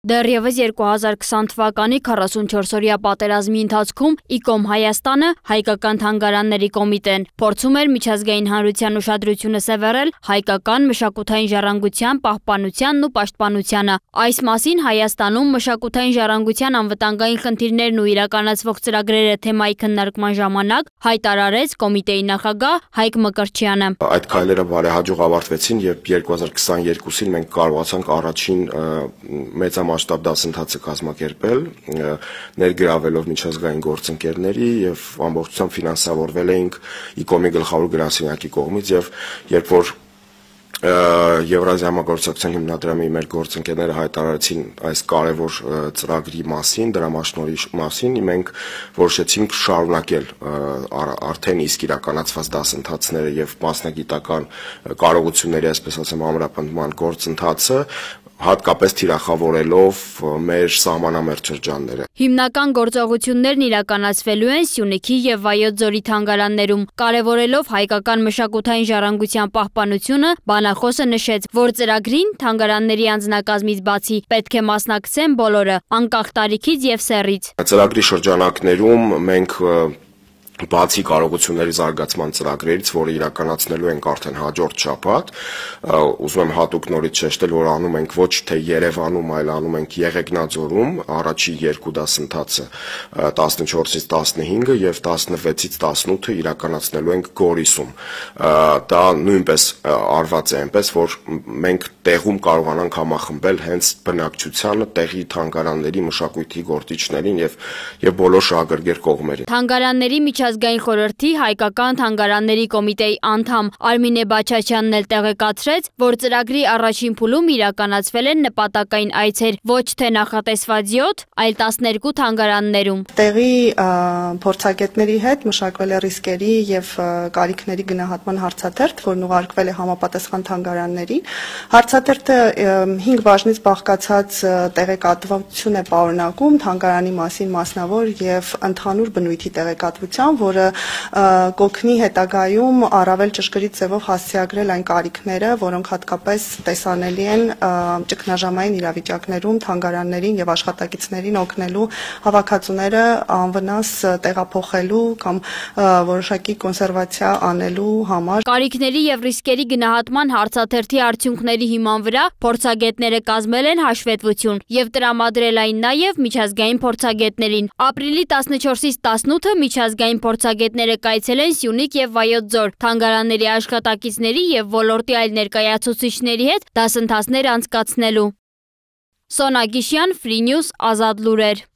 Դեռևս 2020 թվականի 44-օրյա պատերազմի ընթացքում ICOM Հայաստանը հայկական թանգարանների կոմիտեն փորձում էր միջազգային հանրության ուշադրությունը սևեռել հայկական մշակութային ժառանգության պահպանությանն ու պաշտպանությանը։ Այս մասին Հայաստանում մշակութային ժառանգության անվտանգային խնդիրներն ու իրականացվող ծրագրերը թեմայի քննարկման ժամանակ հայտարարեց կոմիտեի նախագահ Հայկ Մկրտչյանը։ Այդ քայլերը բարեհաջող ավարտվեցին, երբ 2022-ին մենք կարողացանք առաջին մեծամասշտաբ դասընթացը կազմակերպել, ներգրավելով միջազգային գործընկերների եւ ամբողջությամբ ֆինանսավորվել էինք ICOM-ի գլխավոր գրասենյակի կողմից եւ երբ որ Եվրազիա համագործակցության հիմնադրամի մեր գործընկերները հայտարարեցին այս կարևոր ծրագրի մասին, դրամաշնորհի մասին, մենք որոշեցինք շարունակել արդեն իսկ իրականացված դասընթացները եւ մասնագիտական կարողությունների, այսպես ասեմ, ամրապնդման գործընթացը, հատկապես թիրախավորելով մեր սահմանամերձ շրջանները։ Հիմնական գործողություններն իրականացվելու են Սյունիքի եւ Վայոց ձորի թանգարաններում, կարևորելով հայկական մշակութային ժառանգության պահպանությունը, բանախոսը նշեց, որ ծրագրին թանգարանների անձնակազմից բացի պետք է մասնակցեն բոլորը, անկախ տարիքից եւ սեռից։ Ծրագրի շրջանակներում մենք բացի կարողությունների զարգացման ծրագրերից, որը իրականացնելու ենք արդեն հաջորդ շաբաթ, ուզում եմ հատուկ նորից շեշտել, որ անում ենք ոչ թե Երևանում, այլ անում ենք Եղեգնաձորում, առաջի երկու դասընթացը 14-ից 15-ը եւ 16-ից 18-ը իրականացնելու ենք Գորիսում։ Դա նույնպես արված է այնպես, որ մենք տեղում կարողանանք համախմբել հենց բնակչությանը, տեղի թանգարանների մշակույթի գործիչներին եւ բոլոր շահագրգիռ կողմերին։ Թանգարանների Միջազգային խորհրդի հայկական թանգարանների կոմիտեի անդամ Արմինե Բաչաչյանն էլ տեղեկացրեց, որ ծրագրի առաջին փուլում իրականացվել են նպատակային այցեր ոչ թե նախատեսված 7, այլ 12 թանգարաններում։ Տեղի փորձագետների հետ մշակվել է ռիսկերի եւ կարիքների գնահատման հարցաթերթ, որն ուղարկվել է համապատասխան թանգարաններին։ Հարցաթերթը 5 բաժնից բաղկացած տեղեկատվություն է պարունակում թանգարանի մասին մասնավոր եւ ընդհանուր բնույթի տեղեկատվության, որը կօգնի հետագայում առավել ճշգրիտ ձևով հասցեագրել այն կարիքները, որոնք հատկապես տեսանելի են ճգնաժամային իրավիճակներում թանգարաններին եւ աշխատակիցներին օգնելու հավաքածուները անվնաս տեղափոխելու կամ որոշակի կոնսերվացիա անելու համար։ Կարիքների եւ ռիսկերի գնահատման հարցաթերթի արդյունքների հիման վրա փորձագետները կազմել են հաշվետվություն եւ տրամադրել այն նաեւ միջազգային փորձագետներին։ Ապրիլի 14-ից 18-ը միջազգային փորձագետները կայցելեն Սյունիք եւ Վայոց ձոր թանգարանների աշխատակիցների եւ ոլորտի այլ ներկայացուցիչների հետ դասընթացներ անցկացնելու։ Սոնա Գիշյան, Free News, Ազատ լուրեր։